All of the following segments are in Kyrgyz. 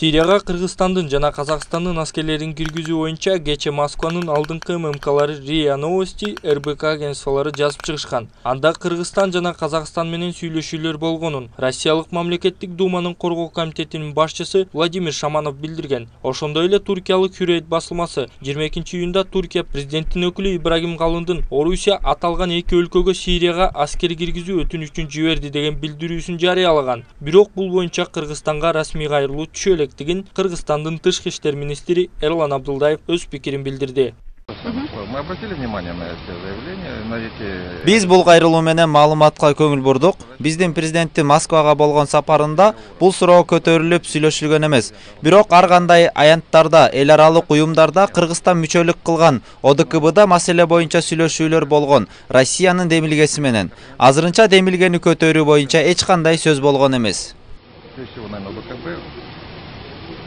Сирияга Кыргызстандын жана Казакстандын аскерлерин киргизүү боюнча кече Москванын алдыңкы ММКлары РИА Новости, РБК агентстволору жазып чыгышкан. Анда Кыргызстан жана Казакстан менен сүйлөшүүлөр болгонун Россиялык мамлекеттик думанын коргоо комитетинин башчысы Владимир Шаманов билдирген. Ошондой эле туркиялык Hürriyet басылмасы 22-июнда Туркия президентинин өкүлү Ибрагим Калындын Орусия аталган эки өлкөгө Сирияга аскер киргизүү өтүнүчүн жиберди деген билдирүүсүн жарыялаган. Бирок бул боюнча Кыргызстанга расмий кайрылуу түшө электигин Кыргызстандын тышкы иштер министри Эрлан Абдулдаев өз пикирин билдирди. Мы обратили внимание на эти заявления, на эти... Биз бул кайрылуу менен маалыматка көңүл бурдук. Биздин президенти Москвага болгон сапарында бул суроо көтөрүлүп сүйлөшүлгөн эмес. Бирок ар кандай аянттарда, эл аралык уюмдарда Кыргызстан мүчөлүк кылган ОДКБда маселе боюнча сүйлөшүүлөр болгон Россиянын демилгеси менен. Азырынча демилгени көтөрүү боюнча эч кандай сөз болгон эмес.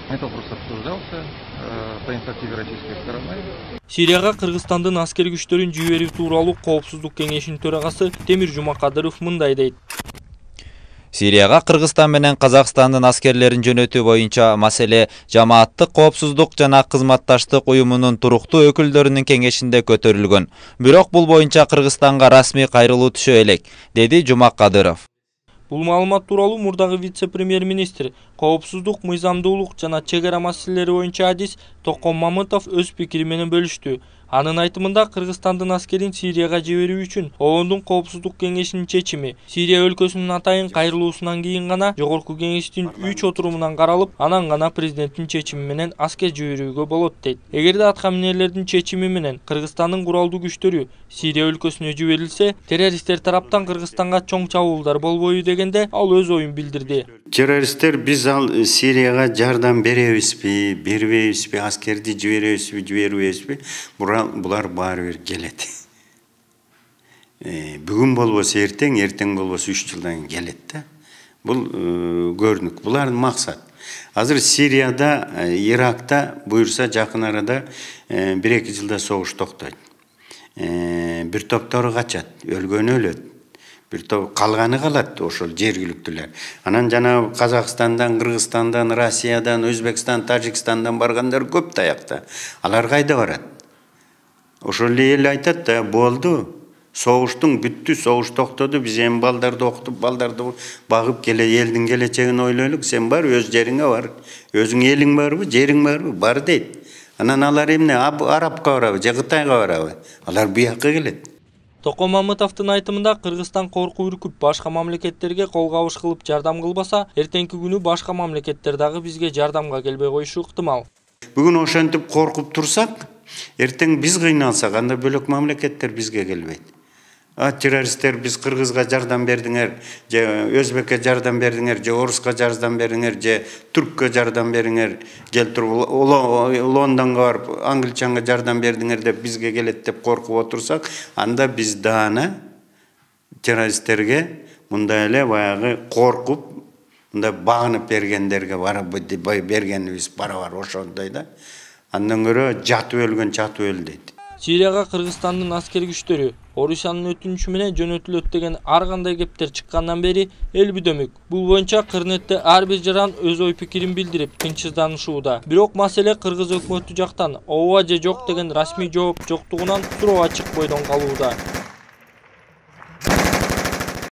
Это вопрос обсуждался по инициативе российской стороны. Сирияга Кыргызстандын аскер күчтөрүн жиберүү тууралуу Коопсуздук кеңешинин төрагасы Темир Жумакадыров мындай дейт. Сирияга Кыргызстан менен Казакстандын аскерлерин жөнөтүү боюнча маселе Жамааттык коопсуздук жана кызматташтык уюмунун туруктуу өкүлдөрүнүн кеңешинде көтөрүлгөн. Бирок бул боюнча Кыргызстанга расмий кайрылуу түшө элек, деди Жумакадыров. Бул маалымат тууралуу мурдагы вице-премьер-министр, коопсуздук, мыйзамдуулук жана чек ара маселелери боюнча адис Токон Мамытов өз пикири менен бөлүштү. Анын айтымында Кыргызстандын аскерин Сирияга жиберүү үчүн ООНдун коопсуздук кеңешинин чечими Сирия өлкөсүнүн атайын кайрылуусунан кийин гана жогорку кеңештин 3 отурумунан каралып, анан гана президенттин чечими менен аскер жиберүүгө болот дейт. Эгерде аткаминерлердин чечими менен Кыргызстандын куралдуу күчтөрү Сирия өлкөсүнө жиберилсе, террористтер тараптан Кыргызстанга чоң чабуулдар болбойбу дегенде ал өз оюн билдирди. Террористтер биз ал Сирияга жардам беребизби, бербейбизби, аскерди жиберебизби, жибербейбизби? Булар баары бир келет. Бүгүн болбосо эртең, эртең болбосо 3 жылдан кийин келет да. Бул көрүнүк. Булардын максат. Азыр Сирияда, Иракта буюрса жакын арада 1-2 жылда согуш токтойт. Бир топтору качат, өлгөнү өлөт. Бир топ калганы калат, ошол жергиликтүүлөр. Анан жана Казакстандан, Кыргызстандан, Россиядан, Өзбекстан, Тажикстандан баргандар көп таякта. Алар кайда барат? Ошол эл айтат да, болду. Согуштун бүттү, согуш токтоду, биз эми балдарды окутуп, балдарды багып элдин келечегин ойлойлук, сен бар, өз жериңе бар. Өзүң элиң барбы, жериң барбы? Бар дейт. Анан алар эмне, Арабка барабы, же Кытайга барабы? Алар бияка келет. Токон Мамытовдун айтымында Кыргызстан коркуп үркүп башка мамлекеттерге кол кабыш кылып жардам кылбаса, эртеңки күнү башка мамлекеттер дагы бизге жардамга келбей коюшу ыктымал. Бүгүн ошентип коркуп турсак, эртең биз кыйналсак, анда бөлөк мамлекеттер бизге келбейт. Террористтер биз Кыргызга жардам бердиңер, же Өзбекке жардам бердиңер, же Оруска жардам бердиңер, же Түрккө жардам бериңер, келтирип Лондонго барып, англичанга жардам бердиңер деп бизге келет деп коркуп отурсак, анда биз даана террористтерге мындай эле баягы коркуп, мындай багынып бергендерге бергенибиз барабар ошондой да. Андан көрө жатып өлгөн чатып өл дейт. Сирияга Кыргызстандын аскер күчтөрү Орусиянын өтүнүчү менен жөнөтүлөт деген ар кандай кептер чыккандан бери эл бүдөмүк. Бул боюнча Кырнетте ар бир жаран өз ой пикирин билдирип, тынчсызданышууда. Бирок маселе Кыргыз өкмөтү жактан ооба же жок деген расмий жооп жоктугунан суроо ачык бойдон калууда.